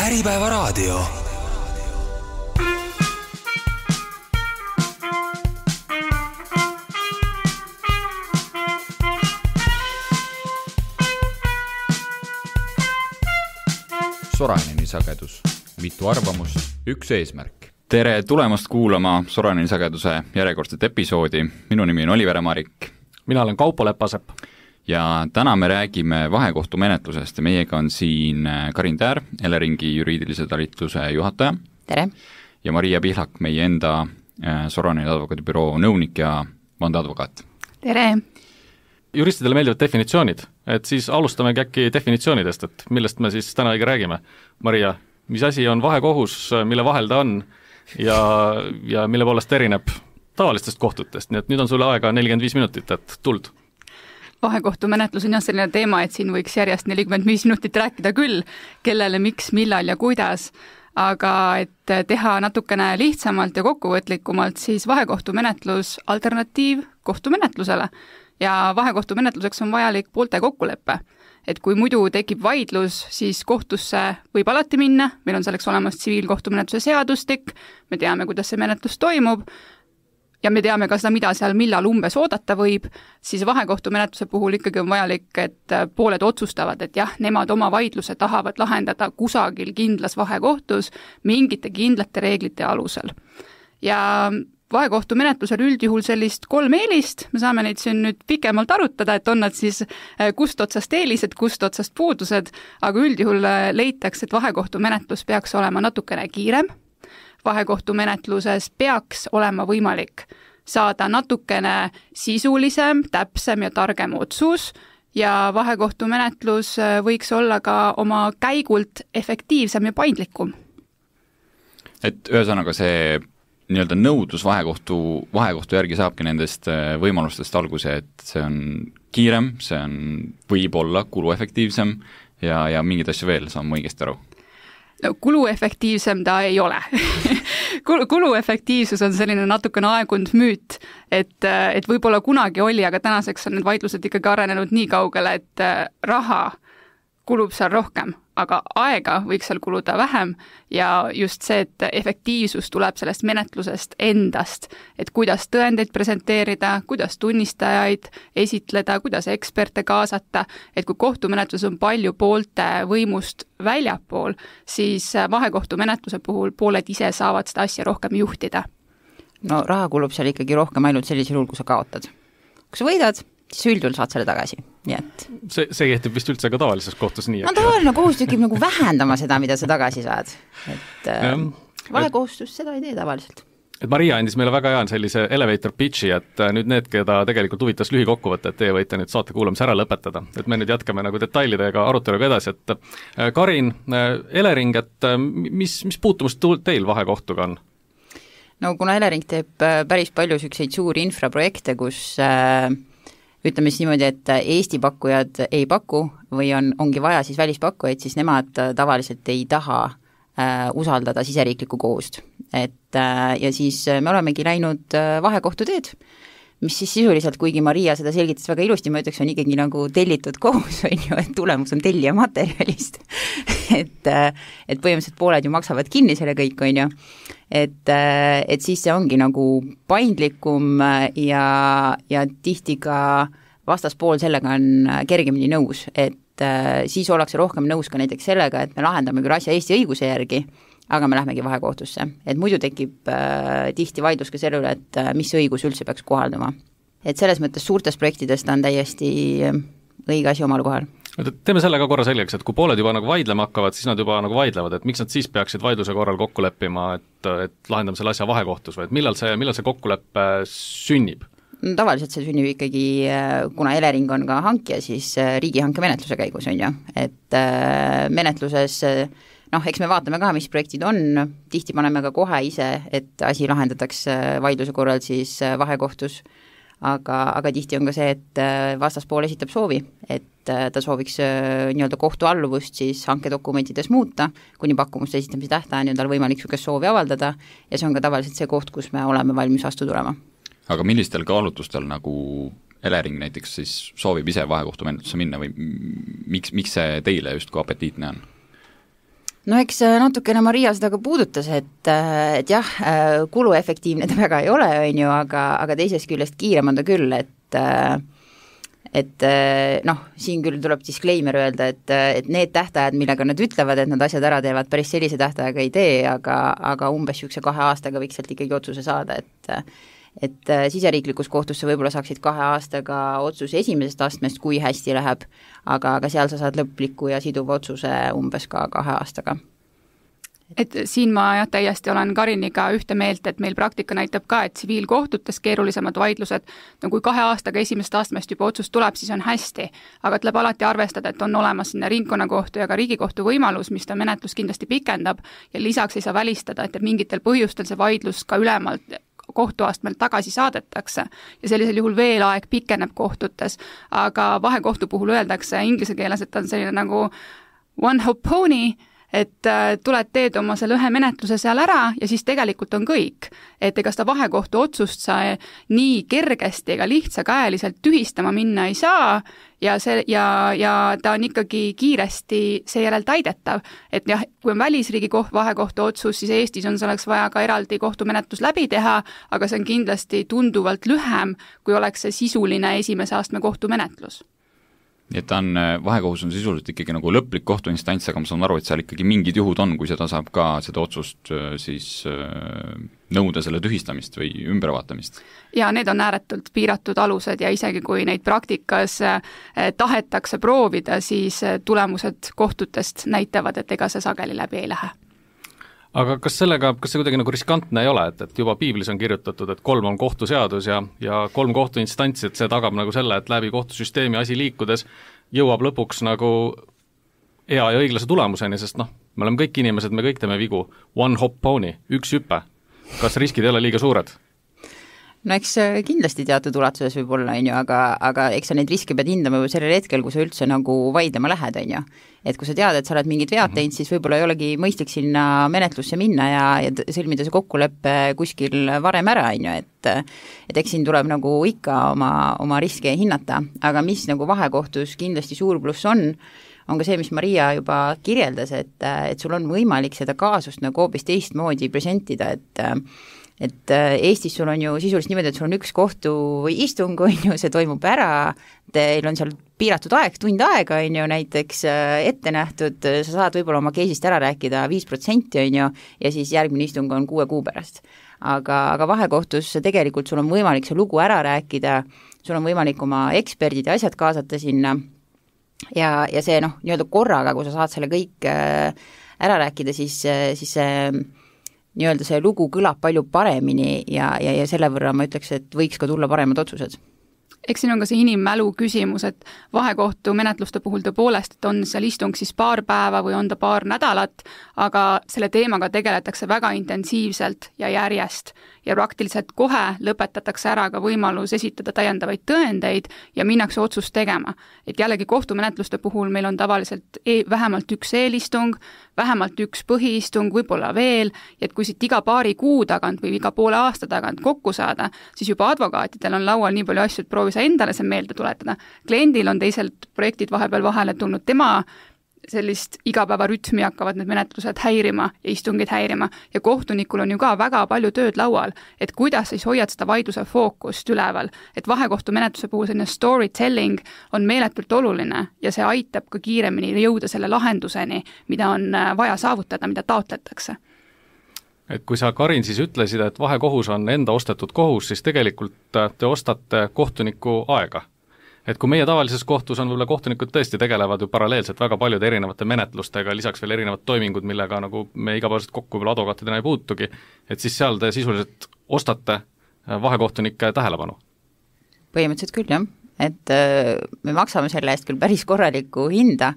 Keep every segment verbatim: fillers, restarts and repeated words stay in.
Äripäevaraadio. Soraineni sagedus. Mitu arvamust, üks eesmärk. Tere tulemast kuulama Soraineni sageduse järjekordset episoodi. Minu nimi on Oliver Marik. Mina olen Kaupo Lepasepp. Ja täna me räägime vahekohtumenetlusest ja meiega on siin Karin Täär, Eleringi juriidilise talitluse juhataja. Tere! Ja Maria Pihlak, meie enda Soraineni advokaadibüroo nõunik ja vandeadvokaat. Tere! Juristidele meeldivad definitsioonid, et siis alustamegi äkki definitsioonidest, et millest me siis täna õige räägime. Maria, mis asi on vahekohus, mille vahel ta on ja, ja mille poolest erineb tavalistest kohtutest, nii et nüüd on sulle aega nelikümmend viis minutit, et tuld. Vahekohtumenetlus on jah selline teema, et siin võiks järjest nelikümmend viis minutit rääkida küll, kellele, miks, millal ja kuidas, aga et teha natukene lihtsamalt ja kokkuvõtlikumalt, siis vahekohtumenetlus alternatiiv kohtumenetlusele. Ja vahekohtumenetluseks on vajalik poolte kokkulepe. Et kui muidu tekib vaidlus, siis kohtusse võib alati minna, meil on selleks olemas tsiviilkohtumenetluse seadustik, me teame, kuidas see menetlus toimub ja me teame ka seda, mida seal millal umbes oodata võib, siis vahekohtumenetluse puhul ikkagi on vajalik, et pooled otsustavad, et jah, nemad oma vaidluse tahavad lahendada kusagil kindlas vahekohtus mingite kindlate reeglite alusel. Ja vahekohtumenetlusel üldjuhul sellist kolm eelist, me saame neid siin nüüd pikemalt arutada, et on nad siis kust otsast eelised, kust otsast puudused, aga üldjuhul leitakse, et vahekohtumenetlus peaks olema natukene kiirem, vahekohtumenetluses peaks olema võimalik saada natukene sisulisem, täpsem ja targem otsus ja vahekohtumenetlus võiks olla ka oma käigult efektiivsem ja paindlikum. Et ühesõnaga see nii-öelda nõudlus vahekohtu, vahekohtu järgi saabki nendest võimalustest alguse, et see on kiirem, see on võib-olla kuluefektiivsem ja, ja mingid asju veel, saan ma õigesti aru. No, kuluefektiivsem ta ei ole. Kuluefektiivsus on selline natukene aegunud müüt, et, et võib-olla kunagi oli, aga tänaseks on need vaidlused ikkagi arenenud nii kaugele, et raha kulub seal rohkem, aga aega võiks seal kuluda vähem ja just see, et efektiivsus tuleb sellest menetlusest endast, et kuidas tõendeid presenteerida, kuidas tunnistajaid esitleda, kuidas eksperte kaasata, et kui kohtumenetlus on palju poolte võimust väljapool, siis vahekohtumenetluse puhul pooled ise saavad seda asja rohkem juhtida. No raha kulub seal ikkagi rohkem ainult sellisel juhul, kui sa kaotad. Kui sa võidad, siis üldjuhul saad selle tagasi. Nii et see, see kehtib vist üldse ka tavalises kohtus nii. No tavaline kohus tükib nagu vähendama seda, mida sa tagasi saad. Et äh, vahekohustus seda ei tee tavaliselt. Et Maria andis meile väga hea sellise elevator pitchi, et nüüd need, keda tegelikult huvitas lühikokkuvõte, et teie võite nüüd saate kuulamise ära lõpetada. Et me nüüd jätkame nagu detailidega aruteluga edasi, et Karin, Elering, et mis, mis puutumust teil vahekohtuga on? No kuna Elering teeb päris palju selliseid suuri infraprojekte, kus äh, ütleme siis niimoodi, et Eesti pakkujad ei paku või on, ongi vaja siis välispakkujaid, siis nemad tavaliselt ei taha äh, usaldada siseriiklikku kohust. Et, äh, ja siis me olemegi läinud äh, vahekohtu teed, mis siis sisuliselt, kuigi Maria seda selgitas väga ilusti, ma ütleks, on ikkagi nagu tellitud kohus, on ju, et tulemus on tellija materjalist. et, äh, et põhimõtteliselt pooled ju maksavad kinni selle kõik, on ju. Et, et siis see ongi nagu paindlikum ja, ja tihti ka vastaspool sellega on kergemini nõus, et siis ollakse rohkem nõus ka näiteks sellega, et me lahendame küll asja Eesti õiguse järgi, aga me lähmegi vahekohtusse. Et muidu tekib äh, tihti vaidlus ka selle üle, et äh, mis õigus üldse peaks kohalduma. Et selles mõttes suurtest projektidest on täiesti õige asi omal kohal. Teeme selle ka korra selgeks, et kui pooled juba nagu vaidlema hakkavad, siis nad juba nagu vaidlevad, et miks nad siis peaksid vaidluse korral kokku leppima, et, et lahendame selle asja vahekohtus või et millal see, millal see kokkuleppe sünnib? No, tavaliselt see sünnib ikkagi, kuna Elering on ka hankija, siis riigihanke menetluse käigus on ju, et menetluses, noh, eks me vaatame ka, mis projektid on, tihti paneme ka kohe ise, et asi lahendatakse vaidluse korral siis vahekohtus, aga, aga tihti on ka see, et vastaspool esitab soovi, et ta sooviks nii-öelda kohtualluvust siis hankedokumentides muuta, kuni pakkumuste esitamise tähtajani on tal võimalik niisugust soovi avaldada ja see on ka tavaliselt see koht, kus me oleme valmis vastu tulema. Aga millistel kaalutlustel nagu Elering näiteks siis soovib ise vahekohtumenetlusse minna või miks, miks see teile just kui apetiitne on? no eks natukene Maria seda ka puudutas, et, et jah, kuluefektiivne ta väga ei ole, on ju, aga, aga teisest küljest kiirem on ta küll, et et noh, siin küll tuleb disclaimer öelda, et, et need tähtajad, millega nad ütlevad, et nad asjad ära teevad, päris sellise tähtajaga ei tee, aga, aga umbes niisuguse kahe aastaga võiks sealt ikkagi otsuse saada, et et siseriiklikus kohtusse võib-olla saaksid kahe aastaga otsuse esimesest astmest, kui hästi läheb, aga, aga seal sa saad lõpliku ja siduva otsuse umbes ka kahe aastaga. Et siin ma jah, täiesti olen Kariniga ühte meelt, et meil praktika näitab ka, et tsiviilkohtutes keerulisemad vaidlused, no kui kahe aastaga esimesest astmest juba otsus tuleb, siis on hästi, aga tuleb alati arvestada, et on olemas sinna ringkonnakohtu ja ka riigikohtu võimalus, mis ta menetlus kindlasti pikendab ja lisaks ei saa välistada, et mingitel põhjustel see vaidlus ka ülemalt kohtuastmelt tagasi saadetakse ja sellisel juhul veel aeg pikeneb kohtutes, aga vahekohtu puhul öeldakse inglise keeles, et on selline nagu one hop pony, et tuled teed oma selle ühe menetluse seal ära ja siis tegelikult on kõik. Et ega seda vahekohtu otsust sa nii kergesti ega lihtsakäeliselt tühistama minna ei saa ja, see, ja, ja ta on ikkagi kiiresti seejärel täidetav. Et jah, kui on välisriigi koht, vahekohtu otsus, siis Eestis on selleks vaja ka eraldi kohtumenetlus läbi teha, aga see on kindlasti tunduvalt lühem, kui oleks see sisuline esimese astme kohtumenetlus. Nii et ta on, vahekohus on sisuliselt ikkagi nagu lõplik kohtuinstants, aga ma saan aru, et seal ikkagi mingid juhud on, kui seda saab ka seda otsust siis nõuda selle tühistamist või ümbervaatamist. Ja need on ääretult piiratud alused ja isegi kui neid praktikas tahetakse proovida, siis tulemused kohtutest näitavad, et ega see sageli läbi ei lähe. Aga kas sellega, kas see kuidagi nagu riskantne ei ole, et, et juba piiblis on kirjutatud, et kolm on kohtuseadus ja, ja kolm kohtuinstantsi, et see tagab nagu selle, et läbi kohtusüsteemi asi liikudes jõuab lõpuks nagu hea ja õiglase tulemuseni, sest noh, me oleme kõik inimesed, me kõik teeme vigu. One hop pony, üks hüpe. Kas riskid ei ole liiga suured? No eks kindlasti teatud ulatuses võib olla, on ju, aga, aga eks sa neid riske pead hindama juba sellel hetkel, kui sa üldse nagu vaidlema lähed, on ju. Et kui sa tead, et sa oled mingid vead teinud, siis võib-olla ei olegi mõistlik sinna menetlusse minna ja, ja sõlmida see kokkuleppe kuskil varem ära, on ju, et et eks siin tuleb nagu ikka oma, oma riske hinnata, aga mis nagu vahekohtus kindlasti suur pluss on, on ka see, mis Maria juba kirjeldas, et, et sul on võimalik seda kaasust nagu hoopis teistmoodi presentida, et et Eestis sul on ju sisuliselt niimoodi, et sul on üks kohtu või istung, on ju, see toimub ära, teil on seal piiratud aeg, tund aega, on ju, näiteks ette nähtud, sa saad võib-olla oma case'ist ära rääkida viis protsenti, on ju, ja siis järgmine istung on kuue kuu pärast. Aga, aga vahekohtus tegelikult sul on võimalik see lugu ära rääkida, sul on võimalik oma eksperdid ja asjad kaasata sinna ja, ja see noh, nii-öelda korraga, kui sa saad selle kõik ära rääkida, siis, siis see nii-öelda see lugu kõlab palju paremini ja, ja, ja selle võrra ma ütleks, et võiks ka tulla paremad otsused. Eks siin on ka see inimmälu küsimus, et vahekohtu menetluste puhul tõepoolest, et on seal istung siis paar päeva või on ta paar nädalat, aga selle teemaga tegeletakse väga intensiivselt ja järjest ja praktiliselt kohe lõpetatakse ära ka võimalus esitada täiendavaid tõendeid ja minnakse otsust tegema. Et jällegi kohtumenetluste puhul meil on tavaliselt e- vähemalt üks eelistung, vähemalt üks põhiistung, võib-olla veel, et kui siit iga paari kuu tagant või iga poole aasta tagant kokku saada, siis juba advokaatidel on laual nii palju asju, et proovi sa endale see meelde tuletada. Kliendil on teiselt projektid vahepeal vahele tulnud, tema sellist igapäevarütmi hakkavad need menetlused häirima ja istungid häirima ja kohtunikul on ju ka väga palju tööd laual, et kuidas siis hoiad seda vaidluse fookust üleval, et vahekohtu menetluse puhul selline storytelling on meeletult oluline ja see aitab ka kiiremini jõuda selle lahenduseni, mida on vaja saavutada, mida taotletakse. Et kui sa, Karin, siis ütlesid, et vahekohus on enda ostetud kohus, siis tegelikult te ostate kohtuniku aega. Et kui meie tavalises kohtus on võib-olla kohtunikud tõesti tegelevad ju paralleelselt väga paljude erinevate menetlustega, lisaks veel erinevad toimingud, millega nagu me igapäevaselt kokku võib-olla advokaatidena ei puutugi, et siis seal te sisuliselt ostate vahekohtunike tähelepanu? Põhimõtteliselt küll, jah. Et me maksame selle eest küll päris korralikku hinda,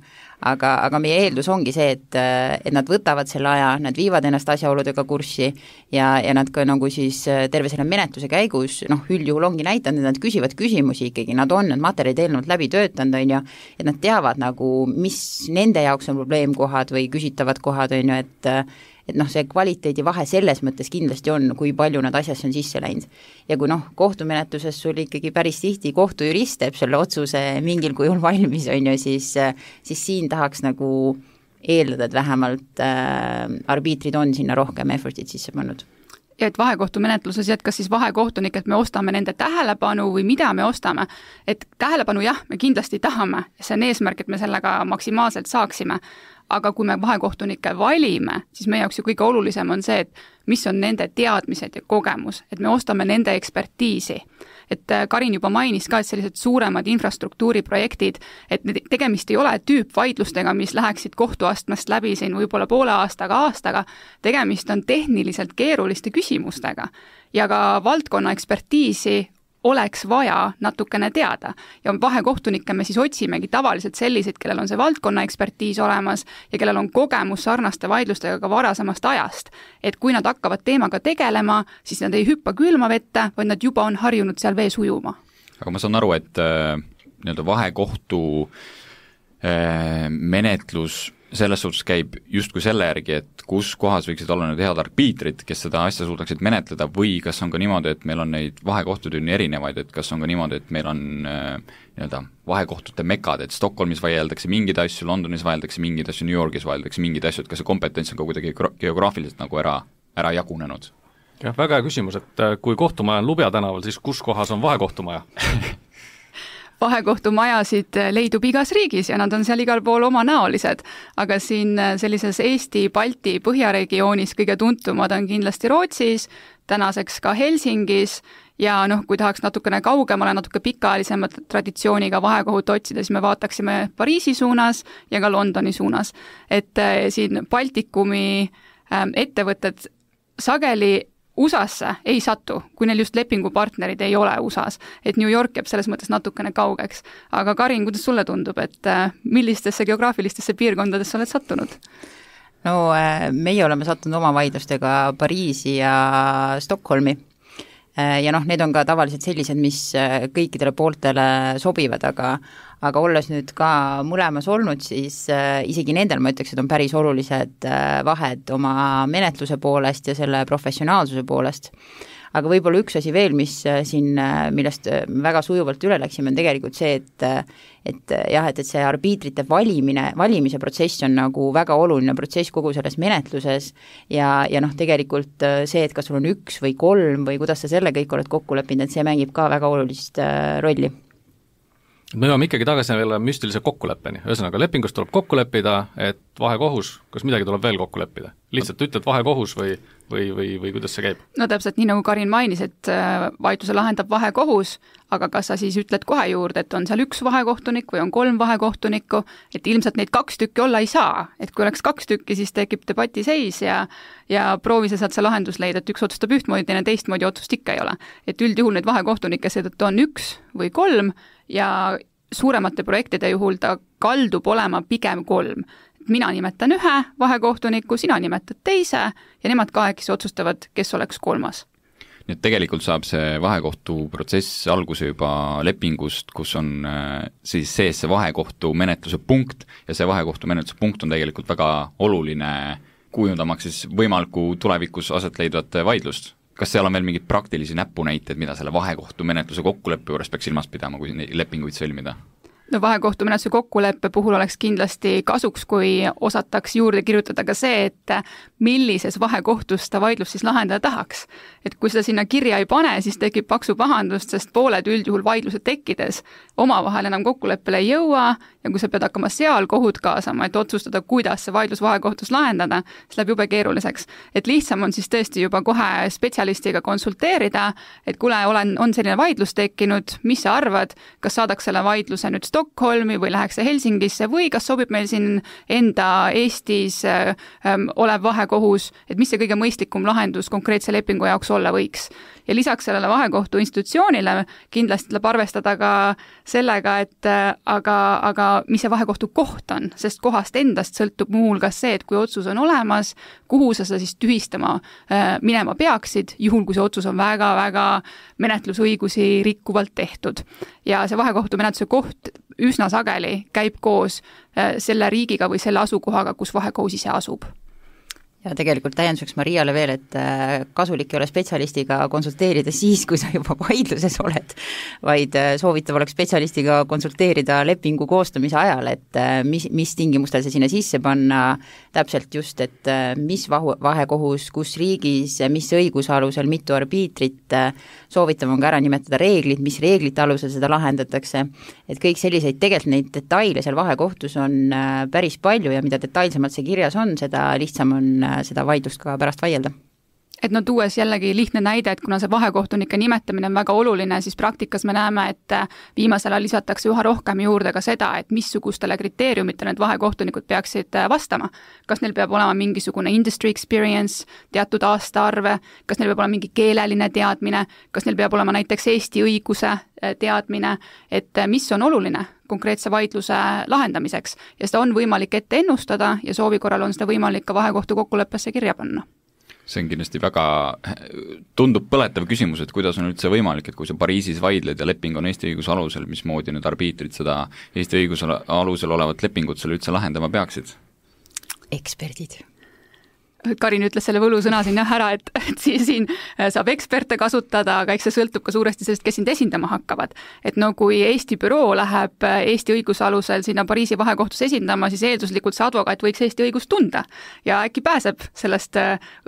aga, aga meie eeldus ongi see, et, et nad võtavad selle aja, nad viivad ennast asjaoludega kurssi ja, ja nad ka nagu siis terve selle menetluse käigus, noh, üldjuhul ongi näidanud, et nad küsivad küsimusi ikkagi, nad on need materjalid eelnevalt läbi töötanud, on ju, et nad teavad nagu, mis nende jaoks on probleemkohad või küsitavad kohad, on ju, et et noh, see kvaliteedi vahe selles mõttes kindlasti on, kui palju nad asjasse on sisse läinud. Ja kui noh, kohtumenetluses sul ikkagi päris tihti kohtujurist teeb selle otsuse mingil kujul valmis, on ju, siis, siis siin tahaks nagu eeldada, et vähemalt äh, arbiitrid on sinna rohkem effortit sisse pannud. Ja et vahekohtumenetluses jätkas siis vahekohtunik, et me ostame nende tähelepanu või mida me ostame. Et tähelepanu jah, me kindlasti tahame, see on eesmärk, et me sellega maksimaalselt saaksime, aga kui me vahekohtunikke valime, siis meie jaoks ju kõige olulisem on see, et mis on nende teadmised ja kogemus, et me ostame nende ekspertiisi. Et Karin juba mainis ka, et sellised suuremad infrastruktuuriprojektid, et tegemist ei ole tüüpvaidlustega, mis läheksid kohtuastmest läbi siin võib-olla poole aastaga, aastaga, tegemist on tehniliselt keeruliste küsimustega ja ka valdkonna ekspertiisi oleks vaja natukene teada. Ja vahekohtunikke me siis otsimegi tavaliselt selliseid, kellel on see valdkonna ekspertiis olemas ja kellel on kogemus sarnaste vaidlustega ka varasemast ajast. Et kui nad hakkavad teemaga tegelema, siis nad ei hüppa külma vette, vaid nad juba on harjunud seal vees ujuma. Aga ma saan aru, et äh, nii-öelda vahekohtu äh, menetlus selles suhtes käib justkui selle järgi, et kus kohas võiksid olla need head arbiitrid, kes seda asja suudaksid menetleda, või kas on ka niimoodi, et meil on neid vahekohtud nii erinevaid, et kas on ka niimoodi, et meil on äh, nii-öelda vahekohtute mekad, et Stockholmis vaieldakse mingeid asju, Londonis vaieldakse mingeid asju, New Yorgis vaieldakse mingeid asju, et kas see kompetents on ka kuidagi geograafiliselt nagu ära, ära jagunenud? jah, väga hea küsimus, et kui kohtumaja on Lubja tänaval, siis kus kohas on vahekohtumaja? Vahekohtumajasid leidub igas riigis ja nad on seal igal pool omanäolised, aga siin sellises Eesti, Balti, Põhjaregioonis kõige tuntumad on kindlasti Rootsis, tänaseks ka Helsingis ja noh, kui tahaks natukene kaugemale, natuke pikaajalisema traditsiooniga vahekohut otsida, siis me vaataksime Pariisi suunas ja ka Londoni suunas. Et siin Baltikumi ettevõtted sageli U S A-sse ei satu, kui neil just lepingupartnerid ei ole U S A-s, et New York jääb selles mõttes natukene kaugeks. Aga Karin, kuidas sulle tundub, et millistesse geograafilistesse piirkondadesse oled sattunud? No meie oleme sattunud oma vaidlustega Pariisi ja Stockholmi ja noh, need on ka tavaliselt sellised, mis kõikidele pooltele sobivad, aga aga olles nüüd ka mõlemas olnud, siis äh, isegi nendel ma ütleks, et on päris olulised äh, vahed oma menetluse poolest ja selle professionaalsuse poolest. Aga võib-olla üks asi veel, mis äh, siin, äh, millest äh, väga sujuvalt üle läksime, on tegelikult see, et äh, et jah, et, et see arbiitrite valimine, valimise protsess on nagu väga oluline protsess kogu selles menetluses ja, ja noh, tegelikult see, et kas sul on üks või kolm või kuidas sa selle kõik oled kokku leppinud, et see mängib ka väga olulist äh, rolli. Me jõuame ikkagi tagasi veel müstilise kokkuleppeni, ühesõnaga lepingust tuleb kokku leppida, et vahekohus, kas midagi tuleb veel kokku leppida? Lihtsalt ütled vahekohus või, või, või, või kuidas see käib? No täpselt nii nagu Karin mainis, et vaidluse lahendab vahekohus, aga kas sa siis ütled kohe juurde, et on seal üks vahekohtunik või on kolm vahekohtunikku, et ilmselt neid kaks tükki olla ei saa, et kui oleks kaks tükki, siis tekib debati seis ja, ja proovi sa sealt see lahendus leida, et üks otsustab ühtmoodi, teine teistmoodi otsust ikka ei ole. Et üldjuhul neid vahekohtunikke seetõttu on üks või kolm ja suuremate projektide juhul ta kaldub olema pigem kolm. Mina nimetan ühe vahekohtuniku, sina nimetad teise ja nemad kahekesi otsustavad, kes oleks kolmas. Nii et tegelikult saab see vahekohtu protsess alguse juba lepingust, kus on siis sees see vahekohtu menetluse punkt ja see vahekohtu menetluse punkt on tegelikult väga oluline kujundamaks siis võimaliku tulevikus aset leidvat vaidlust. Kas seal on veel mingid praktilisi näpunäited, mida selle vahekohtu menetluse kokkuleppe juures peaks silmas pidama, kui lepinguid sõlmida? No vahekohtu menetluse kokkuleppe puhul oleks kindlasti kasuks, kui osataks juurde kirjutada ka see, et millises vahekohtus ta vaidlus siis lahendada tahaks. Et kui seda sinna kirja ei pane, siis tekib paksu pahandust, sest pooled üldjuhul vaidluse tekkides omavahel enam kokkuleppele ei jõua ja kui sa pead hakkama seal kohut kaasama, et otsustada, kuidas see vaidlus vahekohtus lahendada, siis läheb jube keeruliseks. Et lihtsam on siis tõesti juba kohe spetsialistiga konsulteerida, et kuule, olen, on selline vaidlus tekkinud, mis sa arvad, kas saadaks selle vaidluse nüüd Stockholmi või läheks see Helsingisse või kas sobib meil siin enda Eestis äh, olev vahekohus, et mis see kõige mõistlikum lahendus konkreetse lepingu jaoks olla võiks. Ja lisaks sellele vahekohtu institutsioonile kindlasti tuleb arvestada ka sellega, et äh, aga, aga mis see vahekohtu koht on, sest kohast endast sõltub muu hulgas see, et kui otsus on olemas, kuhu sa seda siis tühistama äh, minema peaksid, juhul kui see otsus on väga-väga menetlusõigusi rikkuvalt tehtud. Ja see vahekohtu menetluse koht üsna sageli käib koos selle riigiga või selle asukohaga, kus vahekohus ise asub. ja tegelikult täienduseks Mariale veel, et kasulik ei ole spetsialistiga konsulteerida siis, kui sa juba vaidluses oled, vaid soovitav oleks spetsialistiga konsulteerida lepingu koostamise ajal, et mis, mis tingimustel see sinna sisse panna, täpselt just, et mis vahu, vahekohus, kus riigis, mis õiguse alusel, mitu arbiitrit, soovitav on ka ära nimetada reeglid, mis reeglite alusel seda lahendatakse, et kõik selliseid, tegelikult neid detaile seal vahekohtus on päris palju ja mida detailsemalt see kirjas on, seda lihtsam on seda vaidlust ka pärast vaielda. Et no tuues jällegi lihtne näide, et kuna see vahekohtunike nimetamine on väga oluline, siis praktikas me näeme, et viimasel ajal lisatakse üha rohkem juurde ka seda, et missugustele kriteeriumitele need vahekohtunikud peaksid vastama. Kas neil peab olema mingisugune industry experience, teatud aastaarve, kas neil peab olema mingi keeleline teadmine, kas neil peab olema näiteks Eesti õiguse teadmine, et mis on oluline konkreetse vaidluse lahendamiseks ja seda on võimalik ette ennustada ja soovi korral on seda võimalik ka vahekohtu kokkuleppesse kirja panna. See on kindlasti väga, tundub põletav küsimus, et kuidas on üldse võimalik, et kui sa Pariisis vaidled ja leping on Eesti õiguse alusel, mismoodi need arbiitrid seda Eesti õiguse alusel olevat lepingut selle üldse lahendama peaksid? Eksperdid. Karin ütles selle võlusõna siin jah ära, et, et siin saab eksperte kasutada, aga eks see sõltub ka suuresti sellest, kes sind esindama hakkavad. Et no kui Eesti büroo läheb Eesti õiguse alusel sinna Pariisi vahekohtus esindama, siis eelduslikult see advokaat võiks Eesti õigust tunda ja äkki pääseb sellest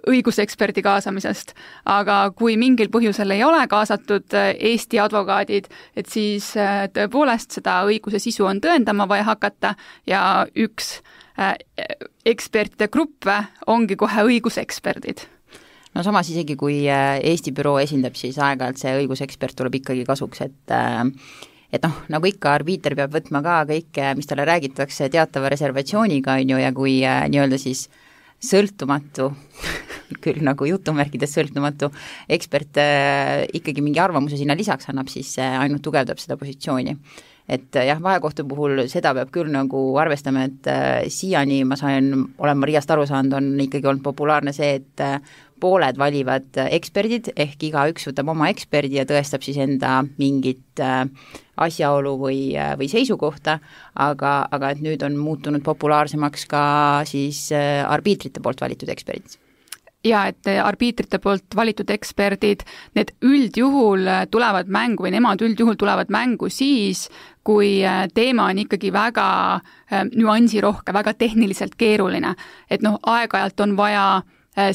õiguseksperdi kaasamisest. Aga kui mingil põhjusel ei ole kaasatud Eesti advokaadid, et siis tõepoolest seda õiguse sisu on tõendama vaja hakata ja üks ekspertide gruppe ongi kohe õiguseksperdid. No samas isegi, kui Eesti büroo esindab, siis aeg-ajalt see õigusekspert tuleb ikkagi kasuks, et et noh, nagu ikka, arbiiter peab võtma ka kõike, mis talle räägitakse teatava reservatsiooniga, on ju, ja kui nii-öelda siis sõltumatu, küll nagu jutumärkides sõltumatu ekspert ikkagi mingi arvamuse sinna lisaks annab, siis see ainult tugevdab seda positsiooni. Et jah, vahekohtu puhul seda peab küll nagu arvestama, et äh, siiani ma sain, olen Mariast aru saanud, on ikkagi olnud populaarne see, et äh, pooled valivad eksperdid, ehk igaüks võtab oma eksperdi ja tõestab siis enda mingit äh, asjaolu või, äh, või seisukohta, aga, aga et nüüd on muutunud populaarsemaks ka siis äh, arbiitrite poolt valitud eksperdid. Ja et arbiitrite poolt valitud eksperdid, need üldjuhul tulevad mängu või nemad üldjuhul tulevad mängu siis, kui teema on ikkagi väga nüansirohke, väga tehniliselt keeruline. Et noh, aeg-ajalt on vaja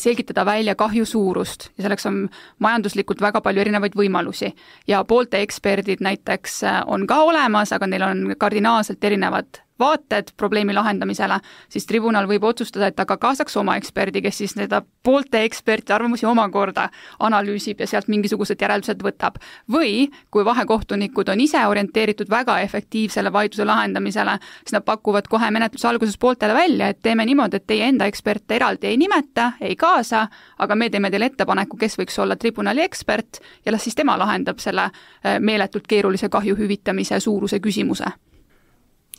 selgitada välja kahju suurust ja selleks on majanduslikult väga palju erinevaid võimalusi. Ja poolte eksperdid näiteks on ka olemas, aga neil on kardinaalselt erinevad vaated probleemi lahendamisele, siis tribunal võib otsustada, et ta ka kaasaks oma eksperdi, kes siis need poolte eksperti arvamusi omakorda analüüsib ja sealt mingisugused järeldused võtab. Või kui vahekohtunikud on ise orienteeritud väga efektiivsele vaidluse lahendamisele, siis nad pakuvad kohe menetluse alguses pooltele välja, et teeme niimoodi, et teie enda eksperte eraldi ei nimeta, ei kaasa, aga me teeme teile ettepaneku, kes võiks olla tribunali ekspert ja las siis tema lahendab selle meeletult keerulise kahju hüvitamise suuruse küsimuse.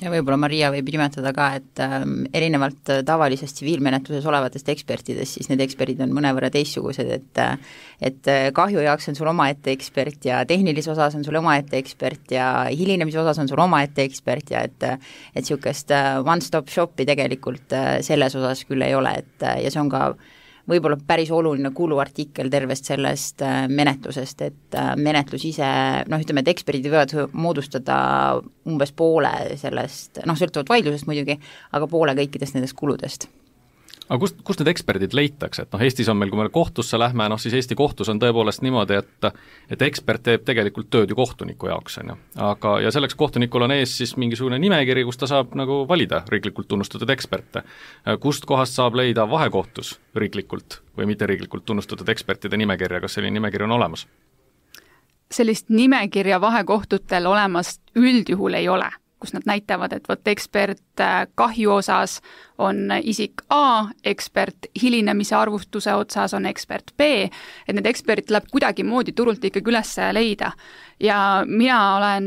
Ja võib-olla Maria võib nimetada ka, et ähm, erinevalt tavalisest tsiviilmenetluses olevatest ekspertidest, siis need eksperdid on mõnevõrra teistsugused, et et kahju jaoks on sul omaette ekspert ja tehnilise osas on sul omaette ekspert ja hilinemise osas on sul omaette ekspert ja et et niisugust one-stop shopi tegelikult selles osas küll ei ole, et ja see on ka võib-olla päris oluline kuluartikkel tervest sellest menetlusest, et menetlus ise, noh ütleme, et eksperdid võivad moodustada umbes poole sellest, noh sõltuvalt vaidlusest muidugi, aga poole kõikidest nendest kuludest. Aga kust, kust need eksperdid leitakse, et noh, Eestis on meil, kui me kohtusse lähme, noh siis Eesti kohtus on tõepoolest niimoodi, et et ekspert teeb tegelikult tööd ju kohtuniku jaoks, on ju. Aga, ja selleks kohtunikul on ees siis mingisugune nimekiri, kus ta saab nagu valida riiklikult tunnustatud eksperte. Kust kohast saab leida vahekohtus riiklikult või mitte riiklikult tunnustatud ekspertide nimekirja, kas selline nimekiri on olemas? Sellist nimekirja vahekohtutel olemas üldjuhul ei ole, kus nad näitavad, et võt ekspert kahju osas on isik A, ekspert hilinemise arvustuse otsas on ekspert B, et need eksperdid tuleb kuidagi moodi turult ikkagi üles leida. Ja mina olen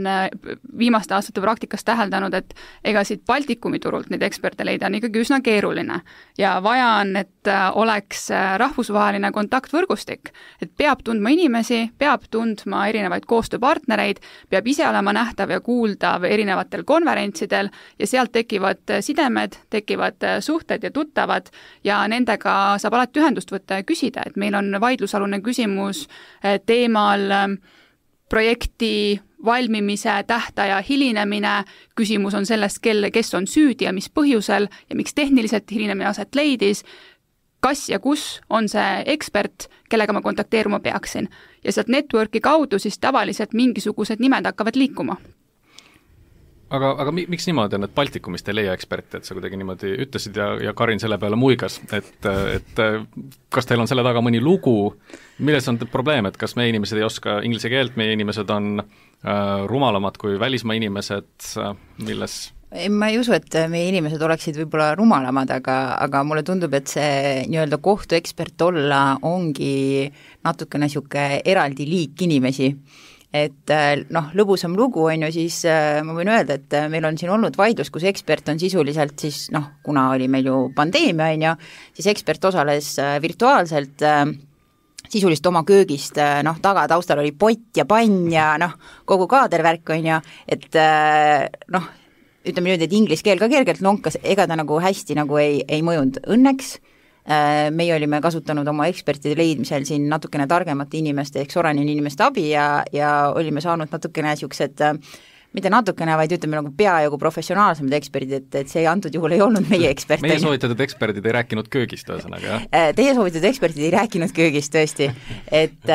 viimaste aastate praktikas täheldanud, et ega siit Baltikumi turult neid eksperte leida on ikkagi üsna keeruline. Ja vaja on, et oleks rahvusvaheline kontaktvõrgustik, et peab tundma inimesi, peab tundma erinevaid koostööpartnereid, peab ise olema nähtav ja kuuldav erinevatel konverentsidel ja sealt tekivad tekivad sidemed, tekivad suhted ja tuttavad ja nendega saab alati ühendust võtta ja küsida, et meil on vaidlusalune küsimus teemal projekti valmimise tähtaja hilinemine, küsimus on sellest, kelle, kes on süüdi ja mis põhjusel ja miks tehniliselt hilinemine aset leidis, kas ja kus on see ekspert, kellega ma kontakteeruma peaksin. Ja sealt networki kaudu siis tavaliselt mingisugused nimed hakkavad liikuma. Aga, aga miks niimoodi on, et Baltikumist ei leia eksperti, et sa kuidagi niimoodi ütlesid ja, ja Karin selle peale muigas, et, et kas teil on selle taga mõni lugu, milles on probleem, et kas meie inimesed ei oska inglise keelt, meie inimesed on äh, rumalamad kui välismaa inimesed, milles ma ei usu, et meie inimesed oleksid võib-olla rumalamad, aga, aga mulle tundub, et see nii-öelda kohtuekspert olla ongi natukene niisugune eraldi liik inimesi. Et noh, lõbusam lugu on ju, siis ma võin öelda, et meil on siin olnud vaidlus, kus ekspert on sisuliselt siis noh, kuna oli meil ju pandeemia on ju, siis ekspert osales virtuaalselt sisuliselt oma köögist, noh, taga taustal oli pott ja pann ja noh, kogu kaadervärk on ju, et noh, ütleme nüüd, et inglise keel ka kergelt lonkas, ega ta nagu hästi nagu ei, ei mõjunud õnneks. Meie olime kasutanud oma ekspertide leidmisel siin natukene targemate inimeste ehk Soranin inimeste abi ja, ja olime saanud natukene niisugused, mitte natukene, vaid ütleme nagu peajagu professionaalsemad eksperdid, et, et see antud juhul ei olnud meie ekspert. Meie soovitatud eksperdid ei rääkinud köögist, ühesõnaga, jah? Teie soovitatud eksperdid ei rääkinud köögist, tõesti. Et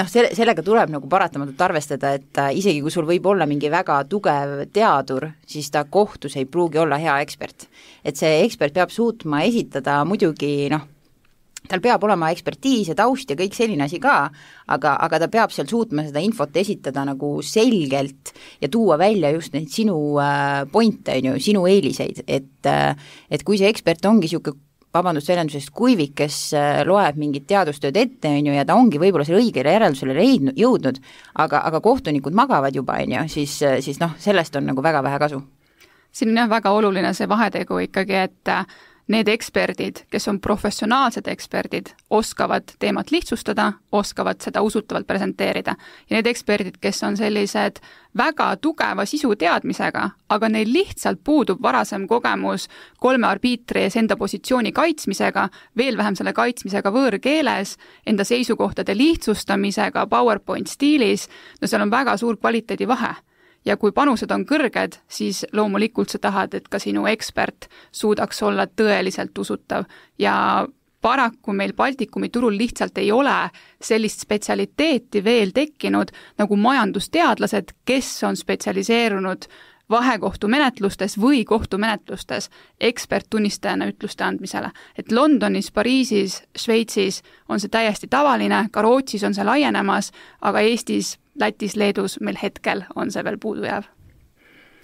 noh, sellega tuleb nagu paratamatult arvestada, et isegi kui sul võib olla mingi väga tugev teadur, siis ta kohtus ei pruugi olla hea ekspert. Et see ekspert peab suutma esitada muidugi, noh, tal peab olema ekspertiis ja taust ja kõik selline asi ka, aga, aga ta peab seal suutma seda infot esitada nagu selgelt ja tuua välja just neid sinu pointe, sinu eeliseid, et, et kui see ekspert ongi niisugune vabandust väljendusest kuivik, kes loeb mingit teadustööd ette, on ju, ja ta ongi võib-olla selle õigele järeldusele leidnud, jõudnud, aga, aga kohtunikud magavad juba, on ju, siis, siis noh, sellest on nagu väga vähe kasu. Siin on jah väga oluline see vahetegu ikkagi, et need eksperdid, kes on professionaalsed eksperdid, oskavad teemat lihtsustada, oskavad seda usutavalt presenteerida. Ja need eksperdid, kes on sellised väga tugeva sisu teadmisega, aga neil lihtsalt puudub varasem kogemus kolme arbiitri ees enda positsiooni kaitsmisega, veel vähem selle kaitsmisega võõrkeeles, enda seisukohtade lihtsustamisega PowerPoint stiilis, no seal on väga suur kvaliteedi vahe. Ja kui panused on kõrged, siis loomulikult sa tahad, et ka sinu ekspert suudaks olla tõeliselt usutav ja paraku meil Baltikumi turul lihtsalt ei ole sellist spetsialiteeti veel tekkinud nagu majandusteadlased, kes on spetsialiseerunud vahekohtumenetlustes või kohtumenetlustes eksperttunnistajana ütluste andmisele. Et Londonis, Pariisis, Šveitsis on see täiesti tavaline, ka Rootsis on see laienemas, aga Eestis, Lätis, Leedus meil hetkel on see veel puudu jääv.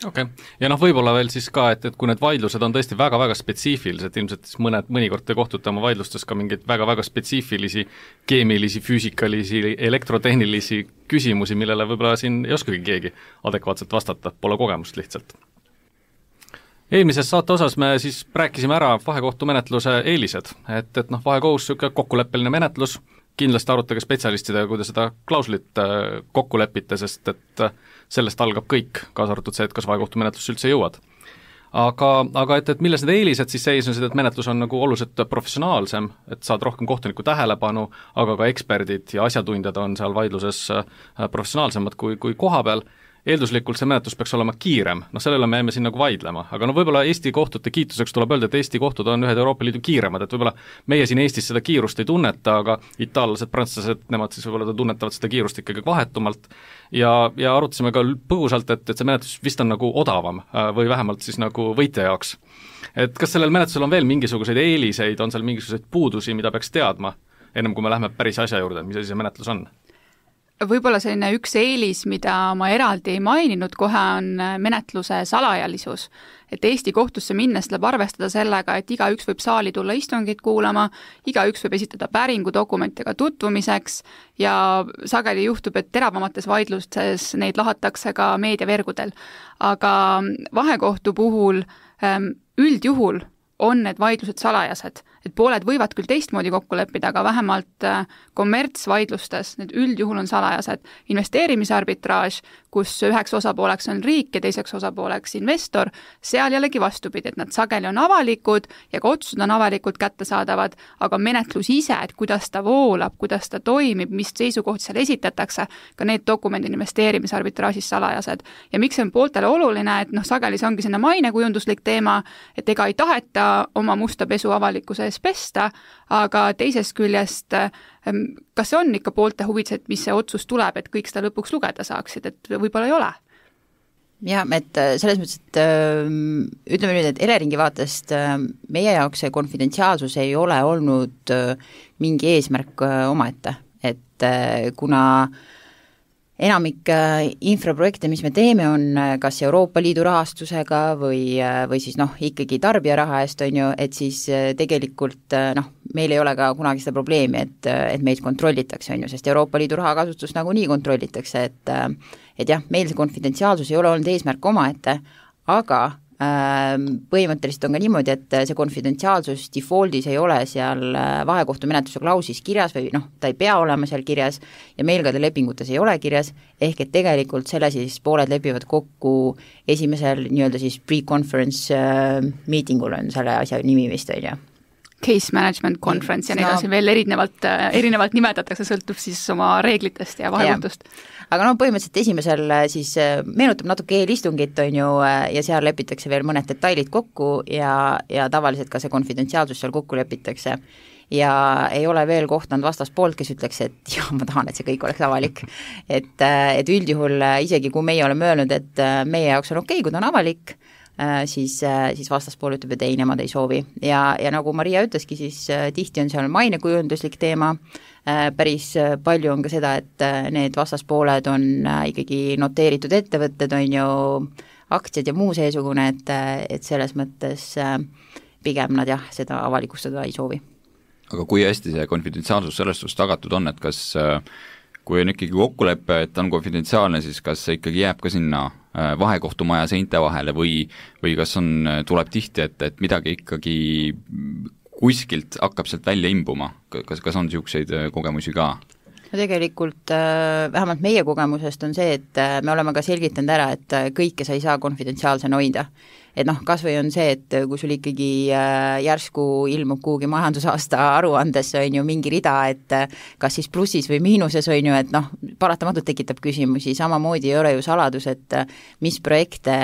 Okei, okay. Ja noh, võib-olla veel siis ka, et, et kui need vaidlused on tõesti väga-väga spetsiifilised, ilmselt siis mõned, mõnikord te kohtute oma vaidlustes ka mingeid väga-väga spetsiifilisi keemilisi, füüsikalisi, elektrotehnilisi küsimusi, millele võib-olla siin ei oskagi keegi adekvaatselt vastata, pole kogemust lihtsalt. Eelmises saate osas me siis rääkisime ära vahekohtumenetluse eelised, et, et noh, vahekohus niisugune kokkuleppeline menetlus, kindlasti arutage spetsialistidega, kui te seda klauslit kokku lepite, sest et sellest algab kõik, kaasa arvatud see, et kas vahekohtumenetlus üldse jõuad. Aga, aga et, et milles need eelised siis seisnesid, et menetlus on nagu oluliselt professionaalsem, et saad rohkem kohtuniku tähelepanu, aga ka eksperdid ja asjatundjad on seal vaidluses professionaalsemad kui, kui koha peal. Eelduslikult see menetlus peaks olema kiirem, noh sellele me jääme siin nagu vaidlema, aga no võib-olla Eesti kohtute kiituseks tuleb öelda, et Eesti kohtud on ühed Euroopa Liidu kiiremad, et võib-olla meie siin Eestis seda kiirust ei tunneta, aga itaallased, prantslased, nemad siis võib-olla tunnetavad seda kiirust ikkagi vahetumalt ja, ja arutasime ka põgusalt, et, et see menetlus vist on nagu odavam või vähemalt siis nagu võitja jaoks. Et kas sellel menetlusel on veel mingisuguseid eeliseid, on seal mingisuguseid puudusi, mida peaks teadma, ennem kui me lähme päris asja juurde, mis asi see menetlus on? Võib-olla selline üks eelis, mida ma eraldi ei maininud kohe, on menetluse salajalisus. Et Eesti kohtusse minnes tuleb arvestada sellega, et igaüks võib saali tulla istungit kuulama, igaüks võib esitada päringu dokumentidega tutvumiseks ja sageli juhtub, et teravamates vaidlustes neid lahatakse ka meediavergudel. Aga vahekohtu puhul üldjuhul on need vaidlused salajased. Et pooled võivad küll teistmoodi kokku leppida, aga vähemalt kommertsvaidlustes need üldjuhul on salajased. Investeerimise arbitraaž, kus üheks osapooleks on riik ja teiseks osapooleks investor, seal jällegi vastupidi, et nad sageli on avalikud ja ka otsused on avalikult kättesaadavad, aga menetlus ise, et kuidas ta voolab, kuidas ta toimib, mis seisukoht seal esitatakse, ka need dokumendid investeerimise arbitraažis salajased. Ja miks see on pooltele oluline, et noh, sageli see ongi sinna mainekujunduslik teema, et ega ei taheta oma musta pesu avalikkuse ees pesta, aga teisest küljest, kas see on ikka poolte huvides, et mis see otsus tuleb, et kõik seda lõpuks lugeda saaksid, et võib-olla ei ole? Jah, et selles mõttes, et ütleme nüüd, et Eleringi vaatest meie jaoks see konfidentsiaalsus ei ole olnud mingi eesmärk omaette, et kuna enamik infraprojekte, mis me teeme, on kas Euroopa Liidu rahastusega või, või siis noh, ikkagi tarbija raha eest, on ju, et siis tegelikult noh, meil ei ole ka kunagi seda probleemi, et, et meid kontrollitakse, on ju, sest Euroopa Liidu raha kasutust nagunii kontrollitakse, et et jah, meil see konfidentsiaalsus ei ole olnud eesmärk omaette, aga põhimõtteliselt on ka niimoodi, et see konfidentsiaalsus defaultis ei ole seal vahekohtumenetluse klausis kirjas või noh, ta ei pea olema seal kirjas ja meil ka lepingutes ei ole kirjas, ehk et tegelikult selle siis pooled lepivad kokku esimesel nii-öelda siis pre-conference meetingul on selle asja nimi vist, on ju. Case management conference ja neid no, on veel erinevalt, erinevalt nimetatakse, sõltub siis oma reeglitest ja vahekohtust. Aga no põhimõtteliselt esimesel siis meenutab natuke eelistungit, on ju, ja seal lepitakse veel mõned detailid kokku ja, ja tavaliselt ka see konfidentsiaalsus seal kokku lepitakse. Ja ei ole veel kohtanud vastaspoolt, kes ütleks, et jah, ma tahan, et see kõik oleks avalik. et, et üldjuhul isegi kui meie oleme öelnud, et meie jaoks on okei, kui ta on avalik, siis, siis vastaspool ütleb, et ei, nemad ei soovi. Ja, ja nagu Maria ütleski, siis tihti on seal mainekujunduslik teema, päris palju on ka seda, et need vastaspooled on ikkagi noteeritud ettevõtted, on ju aktsiad ja muu seesugune, et, et selles mõttes pigem nad jah, seda avalikustada ei soovi. Aga kui hästi see konfidentsiaalsus sellest suhtes tagatud on, et kas kui on ikkagi kokkulepe, et on konfidentsiaalne, siis kas see ikkagi jääb ka sinna vahekohtumaja seinte vahele või, või kas on, tuleb tihti, et, et midagi ikkagi kuskilt hakkab sealt välja imbuma, kas, kas on niisuguseid kogemusi ka? No tegelikult vähemalt meie kogemusest on see, et me oleme ka selgitanud ära, et kõike sa ei saa konfidentsiaalsena hoida. Et noh, kas või on see, et kui sul ikkagi järsku ilmub kuhugi majandusaasta aruandes on ju mingi rida, et kas siis plussis või miinuses on ju, et noh, paratamatult tekitab küsimusi, samamoodi ei ole ju saladus, et mis projekte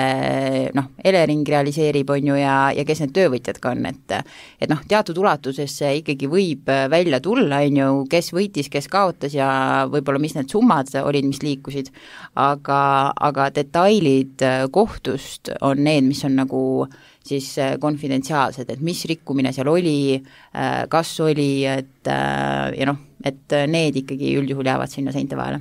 noh, Elering realiseerib on ju ja, ja kes need töövõtjad ka on, et et noh, teatud ulatuses ikkagi võib välja tulla, on ju, kes võitis, kes kaotas ja võib-olla mis need summad olid, mis liikusid, aga, aga detailid kohtust on need, mis on nagu siis konfidentsiaalsed, et mis rikkumine seal oli, kas oli, et ja noh, et need ikkagi üldjuhul jäävad sinna seinte vahele.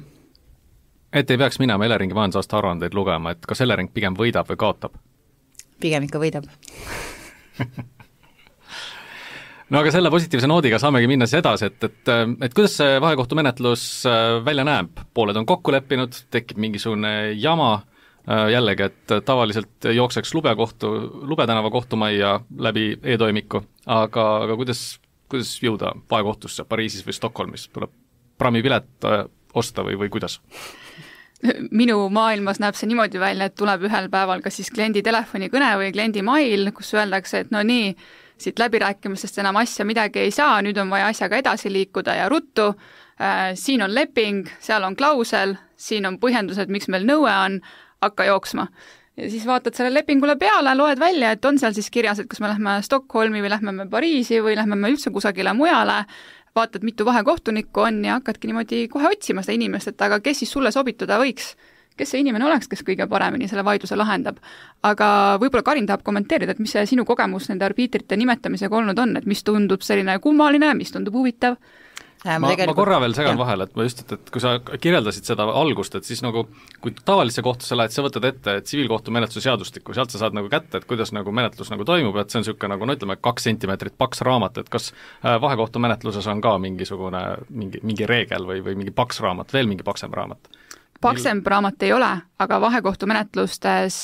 Et ei peaks minema Eleringi majandusaasta aruandeid lugema, et kas Elering pigem võidab või kaotab? Pigem ikka võidab. No aga selle positiivse noodiga saamegi minna siis edasi, et, et, et kuidas see vahekohtumenetlus välja näeb? Pooled on kokku leppinud, tekib mingisugune jama, jällegi, et tavaliselt jookseks lubekohtu, Lubetänava kohtumajja läbi e-toimiku, aga, aga kuidas, kuidas jõuda vahekohtusse Pariisis või Stockholmis? Tuleb pramipilet osta või, või kuidas? Minu maailmas näeb see niimoodi välja, et tuleb ühel päeval kas siis kliendi telefonikõne või kliendi mail, kus öeldakse, et no nii, siit läbirääkimistest enam asja midagi ei saa, nüüd on vaja asjaga edasi liikuda ja ruttu, äh, siin on leping, seal on klausel, siin on põhjendused, miks meil nõue on, hakka jooksma. Ja siis vaatad selle lepingule peale, loed välja, et on seal siis kirjas, et kas me lähme Stockholmi või lähme me Pariisi või lähme me üldse kusagile mujale, vaatad, mitu vahekohtunikku on ja hakkadki niimoodi kohe otsima seda inimest, et aga kes siis sulle sobituda võiks, kes see inimene oleks, kes kõige paremini selle vaidluse lahendab. Aga võib-olla Karin tahab kommenteerida, et mis see sinu kogemus nende arbiitrite nimetamisega olnud on, et mis tundub selline kummaline, mis tundub huvitav? Ma, ma, tegelikult... ma korra veel segan vahele, et ma just, et, et kui sa kirjeldasid seda algust, et siis nagu kui tavalisse kohtusse lähed, sa võtad ette tsiviilkohtumenetluse seadustikku, sealt sa saad nagu kätte, et kuidas nagu menetlus nagu toimub, et see on niisugune nagu no ütleme, kaks sentimeetrit paks raamat, et kas vahekohtumenetluses on ka mingisugune mingi, mingi reegel või, või mingi paks raamat, veel mingi paksem raamat? paksem raamat ei ole, aga vahekohtumenetlustes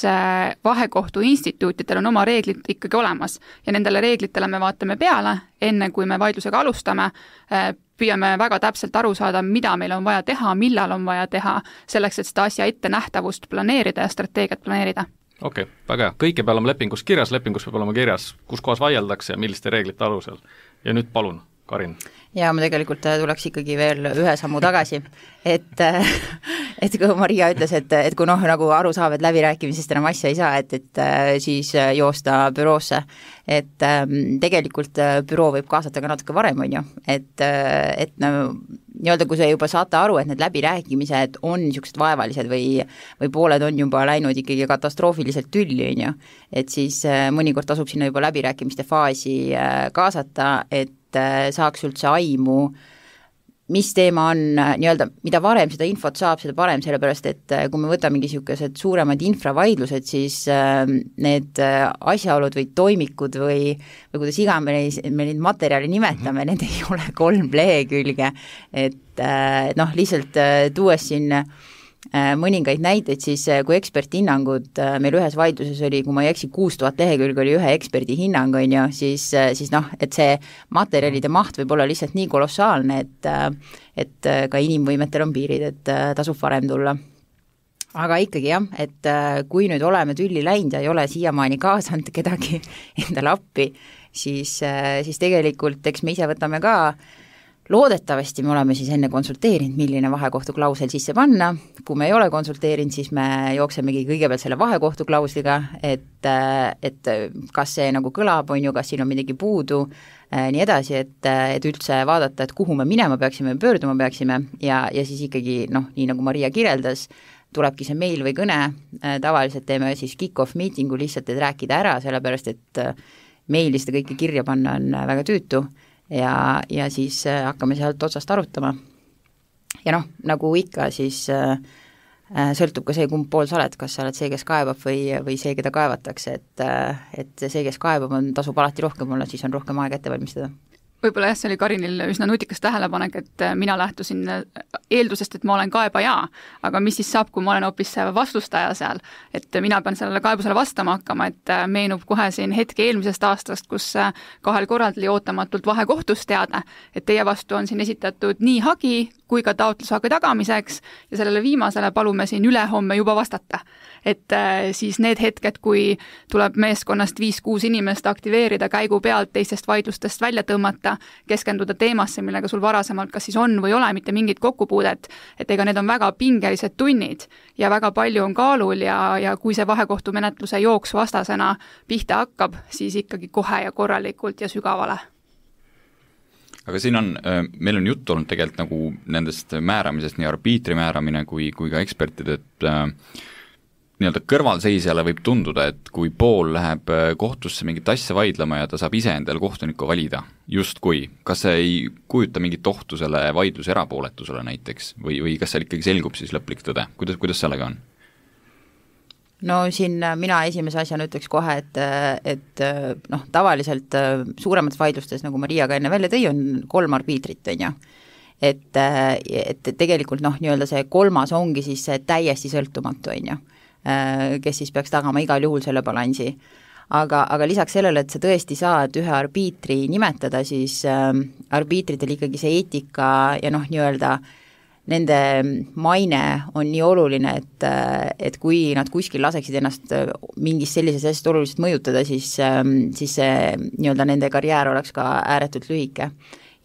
vahekohtu instituutidel on oma reeglid ikkagi olemas ja nendele reeglitele me vaatame peale, enne kui me vaidlusega alustame, püüame väga täpselt aru saada, mida meil on vaja teha, millal on vaja teha, selleks, et seda asja ette nähtavust planeerida ja strateegiat planeerida. Okei, okay, väga hea. Kõike peab olema lepingus kirjas, lepingus peab olema kirjas, kus kohas vaieldakse ja milliste reeglite alusel. Ja nüüd palun, Karin. Ja ma tegelikult tuleks ikkagi veel ühe sammu tagasi, et, et kui Maria ütles, et, et kui noh, nagu aru saab, et läbirääkimisest enam asja ei saa, et, et siis joosta büroosse, et tegelikult büroo võib kaasata ka natuke varem, on ju, et, et no, nii-öelda kui see juba saate aru, et need läbirääkimised on niisugused vaevalised või, või pooled on juba läinud ikkagi katastroofiliselt tülli, on ju, et siis mõnikord tasub sinna juba läbirääkimiste faasi kaasata, et saaks üldse aimu, mis teema on nii-öelda, mida varem seda infot saab, seda parem, sellepärast et kui me võtame mingisugused suuremad infravaidlused, siis need asjaolud või toimikud või, või kuidas iga me, me neid materjali nimetame, need ei ole kolm lehekülge, et noh, lihtsalt tuues siin mõningaid näiteid, siis kui eksperthinnangud meil ühes vaidluses oli, kui ma ei eksi, kuus tuhat lehekülge oli ühe eksperdi hinnang, on ju, siis, siis noh, et see materjalide maht võib olla lihtsalt nii kolossaalne, et, et ka inimvõimetel on piirid, et tasub varem tulla. Aga ikkagi jah, et kui nüüd oleme tülli läinud ja ei ole siiamaani kaasanud kedagi endale appi, siis, siis tegelikult eks me ise võtame ka loodetavasti me oleme siis enne konsulteerinud, milline vahekohtu klausel sisse panna, kui me ei ole konsulteerinud, siis me jooksemegi kõigepealt selle vahekohtu klausliga, et, et kas see nagu kõlab, on ju, kas siin on midagi puudu, nii edasi, et, et üldse vaadata, et kuhu me minema peaksime, pöörduma peaksime ja, ja siis ikkagi noh, nii nagu Maria kirjeldas, tulebki see meil või kõne, tavaliselt teeme siis kick-off meetingu lihtsalt, et rääkida ära, sellepärast et meili seda kõike kirja panna on väga tüütu, ja, ja siis hakkame sealt otsast arutama. Ja noh, nagu ikka, siis äh, sõltub ka see, kumb pool sa oled, kas sa oled see, kes kaebab või, või see, keda kaevatakse, et, et see, kes kaebab, on, tasub alati rohkem olla, siis on rohkem aega ette valmistada. Võib-olla jah, see oli Karinil üsna nutikas tähelepanek, et mina lähtusin eeldusest, et ma olen kaebaja, aga mis siis saab, kui ma olen hoopis vastustaja seal, et mina pean sellele kaebusele vastama hakkama, et meenub kohe siin hetke eelmisest aastast, kus kahel korral oli ootamatult vahekohtust teada, et teie vastu on siin esitatud nii hagi kui ka taotlushagi tagamiseks ja sellele viimasele palume siin ülehomme juba vastata. Et siis need hetked, kui tuleb meeskonnast viis-kuus inimest aktiveerida käigu pealt teistest vaidlustest välja tõmmata, keskenduda teemasse, millega sul varasemalt kas siis on või ole mitte mingit kokkupuudet, et ega need on väga pingelised tunnid ja väga palju on kaalul ja, ja kui see vahekohtumenetluse jooks vastasena pihta hakkab, siis ikkagi kohe ja korralikult ja sügavale. Aga siin on, meil on juttu olnud tegelikult nagu nendest määramisest, nii arbiitri määramine kui, kui ka ekspertid, et äh, nii-öelda kõrvalseisjale võib tunduda, et kui pool läheb kohtusse mingit asja vaidlema ja ta saab ise endale kohtuniku valida, just kui, kas see ei kujuta mingit ohtu selle vaidluse erapooletusele näiteks või, või kas seal ikkagi selgub siis lõplik tõde, kuidas, kuidas sellega on? No siin mina esimese asjana ütleks kohe, et, et noh, tavaliselt suuremates vaidlustes, nagu Maria ka enne välja tõi, on kolm arbiitrit, on ju. Et, et tegelikult noh, nii-öelda see kolmas ongi siis täiesti sõltumatu, on ju, kes siis peaks tagama igal juhul selle balansi. Aga, aga lisaks sellele, et sa tõesti saad ühe arbiitri nimetada, siis arbiitritel ikkagi see eetika ja noh, nii-öelda nende maine on nii oluline, et, et kui nad kuskil laseksid ennast mingis sellises asjast oluliselt mõjutada, siis, siis see nii-öelda nende karjäär oleks ka ääretult lühike.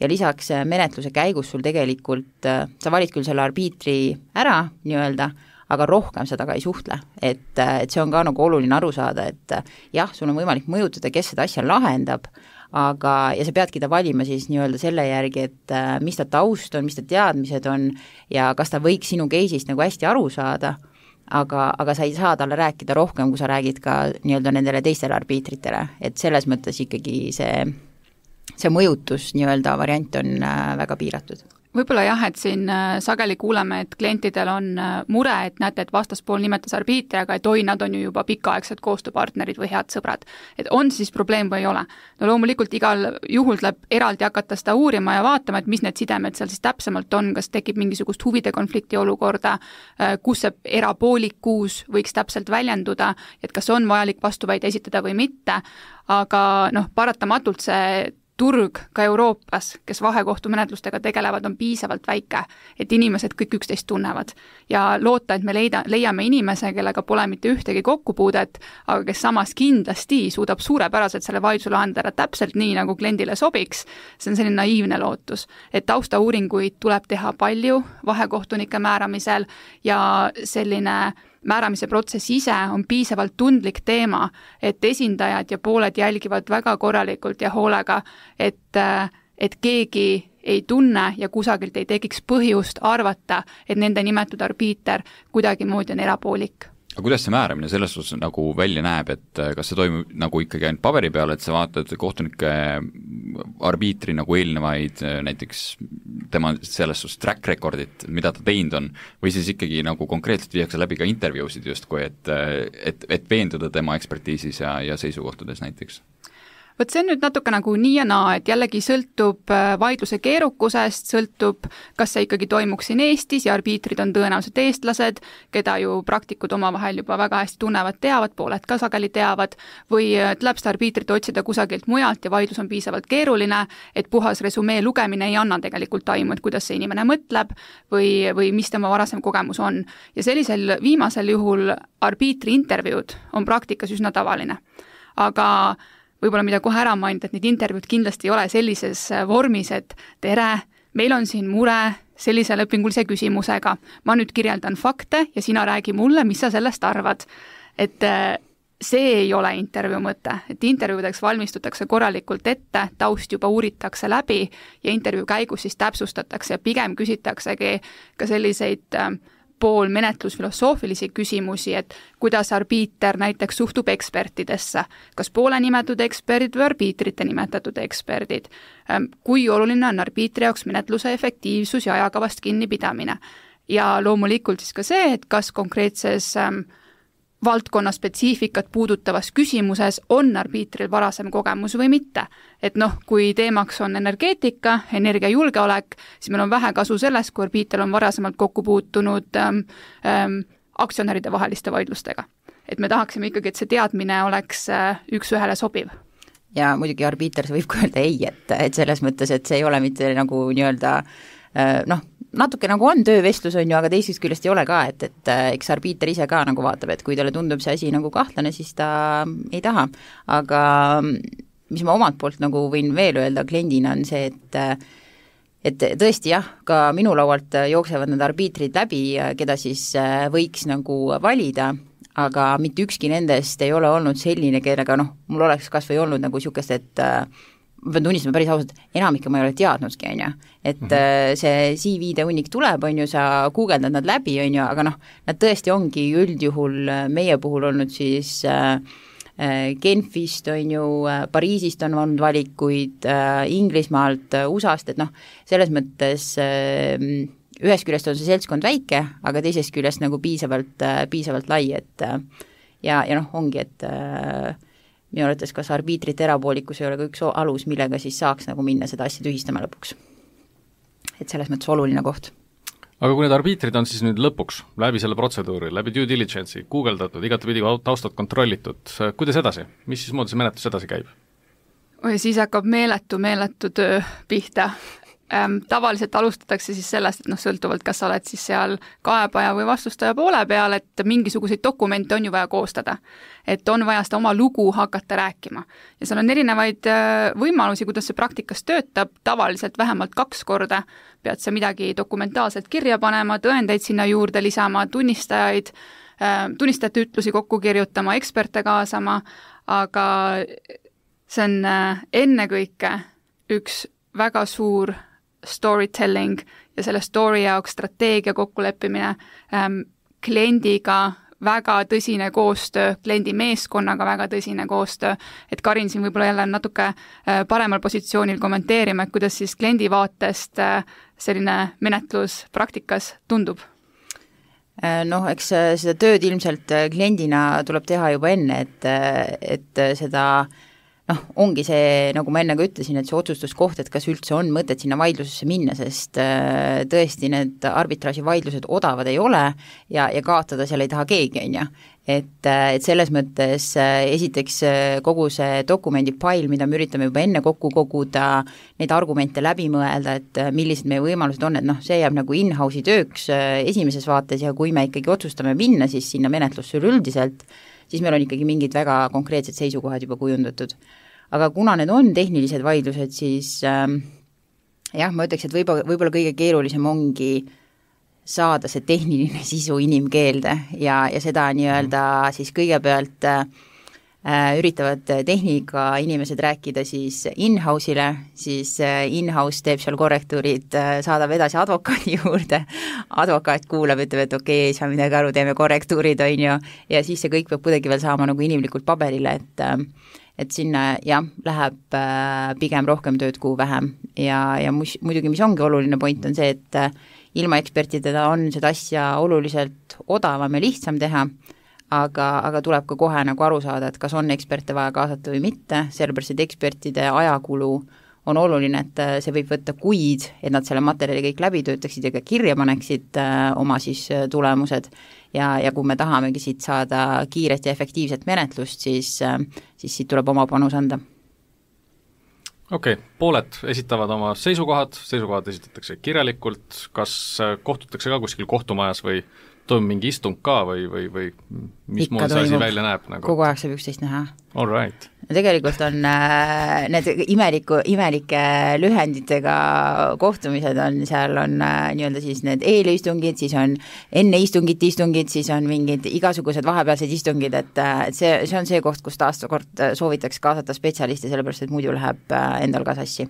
Ja lisaks menetluse käigus sul tegelikult, sa valid küll selle arbiitri ära nii-öelda, aga rohkem seda ka ei suhtle, et, et see on ka nagu oluline aru saada, et jah, sul on võimalik mõjutada, kes seda asja lahendab, aga, ja sa peadki ta valima siis nii-öelda selle järgi, et mis ta taust on, mis ta teadmised on ja kas ta võiks sinu case'ist nagu hästi aru saada, aga, aga sa ei saa talle rääkida rohkem, kui sa räägid ka nii-öelda nendele teistele arbiitritele, et selles mõttes ikkagi see, see mõjutus nii-öelda variant on väga piiratud. võib-olla jah, et siin sageli kuuleme, et klientidel on mure, et näete, et vastaspool nimetas arbiitri, aga et oi, nad on ju juba pikaaegsed koostööpartnerid või head sõbrad. Et on siis probleem või ei ole? No loomulikult igal juhul tuleb eraldi hakata seda uurima ja vaatama, et mis need sidemed seal siis täpsemalt on, kas tekib mingisugust huvide konflikti olukorda, kus see erapoolikkuus võiks täpselt väljenduda, et kas on vajalik vastuväide esitada või mitte, aga noh, paratamatult see turg ka Euroopas, kes vahekohtumenetlustega tegelevad, on piisavalt väike, et inimesed kõik üksteist tunnevad. Ja loota, et me leida, leiame inimese, kellega pole mitte ühtegi kokkupuudet, aga kes samas kindlasti suudab suurepäraselt selle vaidluse lahendada täpselt nii, nagu kliendile sobiks, see on selline naiivne lootus. Et taustauuringuid tuleb teha palju vahekohtunike määramisel ja selline määramise protsess ise on piisavalt tundlik teema, et esindajad ja pooled jälgivad väga korralikult ja hoolega, et, et keegi ei tunne ja kusagilt ei tekiks põhjust arvata, et nende nimetud arbiiter kuidagimoodi on erapoolik. Aga kuidas see määramine selles suhtes nagu välja näeb, et kas see toimub nagu ikkagi ainult paberi peal, et sa vaatad kohtunike arbiitri nagu eelnevaid näiteks tema selles suhtes track recordit, mida ta teinud on, või siis ikkagi nagu konkreetselt viiakse läbi ka intervjuusid justkui, et, et, et veenduda tema ekspertiisis ja, ja seisukohtades näiteks? Võt see on nüüd natuke nagu nii ja naa, et jällegi sõltub vaidluse keerukusest, sõltub, kas see ikkagi toimuks siin Eestis ja arbiitrid on tõenäoliselt eestlased, keda ju praktikud omavahel juba väga hästi tunnevad, teavad, pooled ka sageli teavad, või tuleb seda arbiitrit otsida kusagilt mujalt ja vaidlus on piisavalt keeruline, et puhas resumee lugemine ei anna tegelikult aimu, et kuidas see inimene mõtleb või, või mis tema varasem kogemus on. Ja sellisel viimasel juhul arbiitri intervjuud on praktikas üsna tavaline. Aga võib-olla mida kohe ära mainida, et need intervjuud kindlasti ei ole sellises vormis, et tere, meil on siin mure sellise lepingulise küsimusega, ma nüüd kirjeldan fakte ja sina räägi mulle, mis sa sellest arvad. Et see ei ole intervjuu mõte, et intervjuudeks valmistutakse korralikult ette, taust juba uuritakse läbi ja intervjuu käigus siis täpsustatakse ja pigem küsitaksegi ka selliseid pool menetlusfilosoofilisi küsimusi, et kuidas arbiiter näiteks suhtub ekspertidesse, kas poole nimetatud eksperdid või arbiitrite nimetatud eksperdid, kui oluline on arbiitri jaoks menetluse efektiivsus ja ajakavast kinnipidamine. Ja loomulikult siis ka see, et kas konkreetses valdkonna spetsiifikat puudutavas küsimuses on arbiitril varasem kogemus või mitte. Et noh, kui teemaks on energeetika, energiajulgeolek, siis meil on vähe kasu sellest, kui arbiitril on varasemalt kokku puutunud ähm, ähm, aktsionäride vaheliste vaidlustega. Et me tahaksime ikkagi, et see teadmine oleks äh, üks ühele sobiv. Ja muidugi arbiiter võib ka öelda ei, et, et selles mõttes, et see ei ole mitte nagu nii-öelda äh, noh, natuke nagu on töövestlus, on ju, aga teisest küljest ei ole ka, et, et eks arbiiter ise ka nagu vaatab, et kui talle tundub see asi nagu kahtlane, siis ta ei taha. Aga mis ma omalt poolt nagu võin veel öelda kliendina on see, et et tõesti jah, ka minu laualt jooksevad need arbiitrid läbi, keda siis võiks nagu valida, aga mitte ükski nendest ei ole olnud selline, kellega noh, mul oleks kas või olnud nagu niisugust, et ma pean tunnistama päris ausalt, enamike ma ei ole teadnudki, on ju, et mm-hmm. see C V-de hunnik tuleb, on ju, sa guugeldad nad läbi, on ju, aga noh, nad tõesti ongi üldjuhul meie puhul olnud siis äh, Genfist, on ju, Pariisist on olnud valikuid, äh, Inglismaalt, U S A-st, et noh, selles mõttes äh, ühest küljest on see seltskond väike, aga teisest küljest nagu piisavalt, äh, piisavalt lai, et äh, ja, ja noh, ongi, et äh, minu arvates kas arbiitrite erapoolikkus ei ole ka üks alus, millega siis saaks nagu minna seda asja tühistama lõpuks. Et selles mõttes oluline koht. Aga kui need arbiitrid on siis nüüd lõpuks läbi selle protseduuri, läbi due diligence'i, guugeldatud, igatepidi taustad kontrollitud, kuidas edasi? Mis siis moodi see menetlus edasi käib? Oi, siis hakkab meeletu, meeletu töö pihta. Ähm, tavaliselt alustatakse siis sellest, et noh, sõltuvalt, kas sa oled siis seal kaebaja või vastustaja poole peal, et mingisuguseid dokumente on ju vaja koostada. Et on vaja seda oma lugu hakata rääkima. Ja seal on erinevaid võimalusi, kuidas see praktikas töötab, tavaliselt vähemalt kaks korda pead sa midagi dokumentaalselt kirja panema, tõendeid sinna juurde lisama, tunnistajaid, tunnistajate ütlusi kokku kirjutama, eksperte kaasama, aga see on ennekõike üks väga suur storytelling ja selle story jaoks strateegia kokkuleppimine ähm, kliendiga väga tõsine koostöö, kliendi meeskonnaga väga tõsine koostöö, et Karin siin võib-olla jälle natuke paremal positsioonil kommenteerima, et kuidas siis kliendi vaatest selline menetlus praktikas tundub? Noh, eks seda tööd ilmselt kliendina tuleb teha juba enne, et, et seda noh, ongi see, nagu ma enne ka ütlesin, et see otsustuskoht, et kas üldse on mõtet sinna vaidlusesse minna, sest tõesti need arbitraaži vaidlused odavad ei ole ja, ja kaotada seal ei taha keegi, on ju. Et, et selles mõttes esiteks kogu see dokumendipail, mida me üritame juba enne kokku koguda, neid argumente läbi mõelda, et millised meie võimalused on, et noh, see jääb nagu in-house'i tööks esimeses vaates ja kui me ikkagi otsustame minna siis sinna menetlusse üldiselt, siis meil on ikkagi mingid väga konkreetsed seisukohad juba kujundatud. Aga kuna need on tehnilised vaidlused, siis äh, jah, ma ütleks, et võib-olla, võib-olla kõige keerulisem ongi saada see tehniline sisu inimkeelde ja, ja seda nii-öelda siis kõigepealt äh, üritavad tehnika inimesed rääkida siis in-house'ile, siis äh, in-house teeb seal korrektuurid, äh, saadab edasi advokaadi juurde, advokaat kuulab, ütleb, et okei, ei saa midagi aru, teeme korrektuurid, on ju, ja siis see kõik peab kuidagi veel saama nagu inimlikult paberile, et äh, et sinna jah, läheb äh, pigem rohkem tööd kui vähem ja, ja mus, muidugi mis ongi oluline point on see, et äh, ilma ekspertidega on seda asja oluliselt odavam ja lihtsam teha, aga, aga tuleb ka kohe nagu aru saada, et kas on eksperte vaja kaasata või mitte, sellepärast et ekspertide ajakulu on oluline, et see võib võtta kuid, et nad selle materjali kõik läbi töötaksid ja ka kirja paneksid äh, oma siis tulemused ja, ja kui me tahamegi siit saada kiiret ja efektiivset menetlust, siis, äh, siis siit tuleb oma panus anda. Okei, okay, pooled esitavad oma seisukohad, seisukohad esitatakse kirjalikult, kas kohtutakse ka kuskil kohtumajas või toimub mingi istung ka või, või, või mis muud see asi välja näeb? Nagu? Kogu aeg saab üksteist näha. All right. Tegelikult on äh, need imeliku, imelike lühenditega kohtumised on, seal on äh, nii-öelda siis need eelistungid, siis on enne istungit istungid, siis on mingid igasugused vahepealsed istungid, et, et see, see on see koht, kus taastukord soovitaks kaasata spetsialisti, sellepärast et muidu läheb äh, endal ka sassi.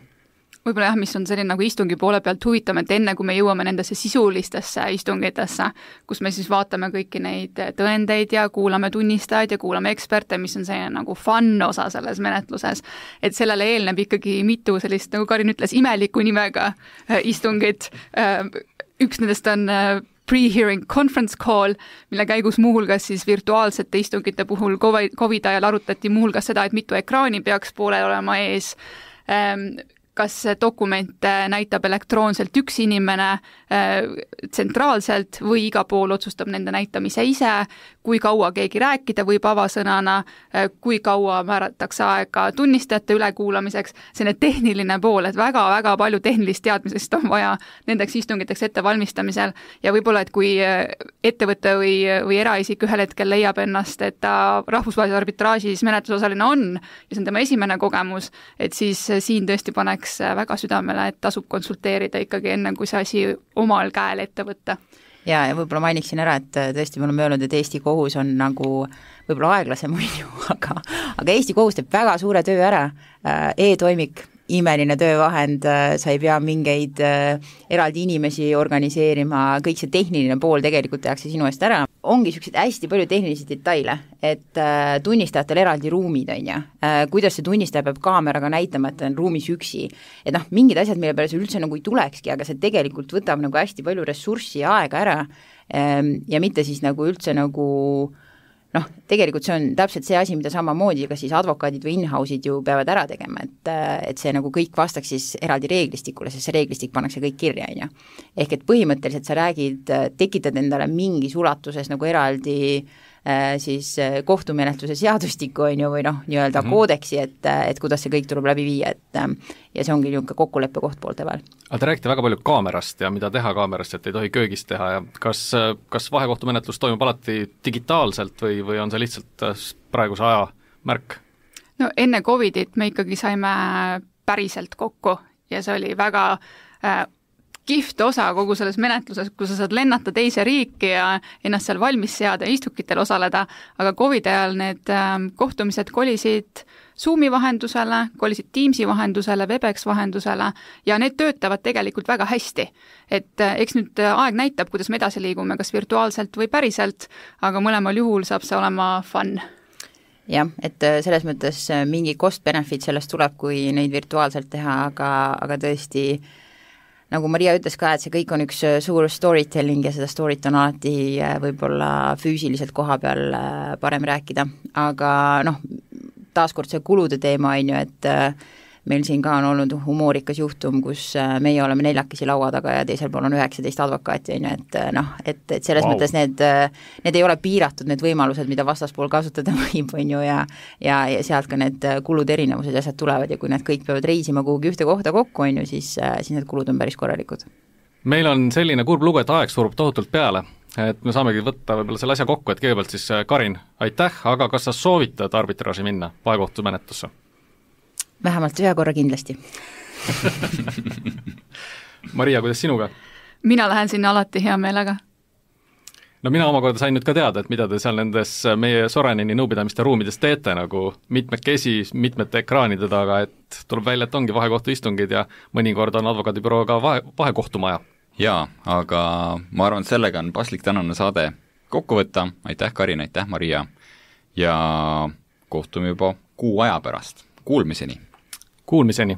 Võib-olla jah, mis on selline nagu istungi poole pealt huvitav, et enne kui me jõuame nendesse sisulistesse istungitesse, kus me siis vaatame kõiki neid tõendeid ja kuulame tunnistajaid ja kuulame eksperte, mis on selline nagu fun osa selles menetluses, et sellele eelneb ikkagi mitu sellist, nagu Karin ütles, imeliku nimega istungit, üks nendest on pre-hearing conference call, mille käigus muuhulgas siis virtuaalsete istungite puhul COVID ajal arutati muuhulgas seda, et mitu ekraani peaks poolel olema ees, kas dokument näitab elektroonselt üks inimene äh, tsentraalselt või iga pool otsustab nende näitamise ise, kui kaua keegi rääkida võib avasõnana, äh, kui kaua määratakse aega tunnistajate ülekuulamiseks, selline tehniline pool, et väga-väga palju tehnilist teadmisest on vaja nendeks istungiteks ettevalmistamisel ja võib-olla, et kui ettevõte või, või eraisik ühel hetkel leiab ennast, et ta rahvusvahelises arbitraažis menetlusosaline on ja see on tema esimene kogemus, et siis siin tõesti paneks väga südamele, et tasub konsulteerida ikkagi enne, kui see asi omal käel ette võtta. Ja, ja võib-olla mainiksin ära, et tõesti me oleme öelnud, et Eesti kohus on nagu võib-olla aeglasem muidu, aga, aga Eesti kohus teeb väga suure töö ära, e-toimik, imeline töövahend, sa ei pea mingeid eraldi inimesi organiseerima, kõik see tehniline pool tegelikult tehakse sinu eest ära. Ongi sellised hästi palju tehnilisi detaile, et tunnistajatel eraldi ruumid on ja, kuidas see tunnistaja peab kaameraga näitama, et ta on ruumis üksi. Et noh, mingid asjad, mille peale see üldse nagu ei tulekski, aga see tegelikult võtab nagu hästi palju ressurssi ja aega ära ja mitte siis nagu üldse nagu noh, tegelikult see on täpselt see asi, mida samamoodi ka siis advokaadid või in-house'id ju peavad ära tegema, et, et see nagu kõik vastaks siis eraldi reeglistikule, sest see reeglistik pannakse kõik kirja, on ju. Ehk et põhimõtteliselt sa räägid, tekitad endale mingis ulatuses nagu eraldi siis kohtumenetluse seadustiku on ju, või noh, nii-öelda mm-hmm. koodeksi, et, et kuidas see kõik tuleb läbi viia, et ja see ongi niisugune kokkuleppe koht poolte vahel. Aga te räägite väga palju kaamerast ja mida teha kaamerast, et ei tohi köögist teha ja kas, kas vahekohtumenetlus toimub alati digitaalselt või, või on see lihtsalt praeguse aja märk? No enne Covidit me ikkagi saime päriselt kokku ja see oli väga äh, kihvt osa kogu selles menetluses, kus sa saad lennata teise riiki ja ennast seal valmis seada ja istukitel osaleda, aga Covid ajal need kohtumised kolisid Zoomi vahendusele, kolisid Teamsi vahendusele, Webex vahendusele ja need töötavad tegelikult väga hästi. Et eks nüüd aeg näitab, kuidas me edasi liigume, kas virtuaalselt või päriselt, aga mõlemal juhul saab see olema fun. Jah, et selles mõttes mingi cost-benefit sellest tuleb, kui neid virtuaalselt teha, aga, aga tõesti, nagu Maria ütles ka, et see kõik on üks suur storytelling ja seda story't on alati võib-olla füüsiliselt koha peal parem rääkida, aga noh, taaskord see kulude teema on ju, et meil siin ka on olnud humoorikas juhtum, kus meie oleme neljakesi laua taga ja teisel pool on üheksateist advokaati, on ju, et noh, et, et selles wow. mõttes need, need ei ole piiratud, need võimalused, mida vastaspool kasutada võib, on ju, ja, ja, ja sealt ka need kulud erinevused ja asjad tulevad ja kui need kõik peavad reisima kuhugi ühte kohta kokku, on ju, siis, siis need kulud on päris korralikud. Meil on selline kurb lugu, et aeg surub tohutult peale, et me saamegi võtta võib-olla selle asja kokku, et kõigepealt siis Karin, aitäh, aga kas sa soovitad arbitraaži minna vahekohtumenetlusse? Vähemalt ühe korra kindlasti. Maria, kuidas sinuga? Mina lähen sinna alati hea meelega. No mina omakorda sain nüüd ka teada, et mida te seal nendes meie Sorenini nõupidamiste ruumides teete, nagu mitmekesi, mitmete ekraanide taga, et tuleb välja, et ongi vahekohtu istungid ja mõnikord on advokaadibürooga vahe, vahekohtumaja. Jaa, aga ma arvan, et sellega on paslik tänane saade kokku võtta. Aitäh, Karin, aitäh, Maria. Ja kohtume juba kuu aja pärast. Kuulmiseni! Kuulmiseni!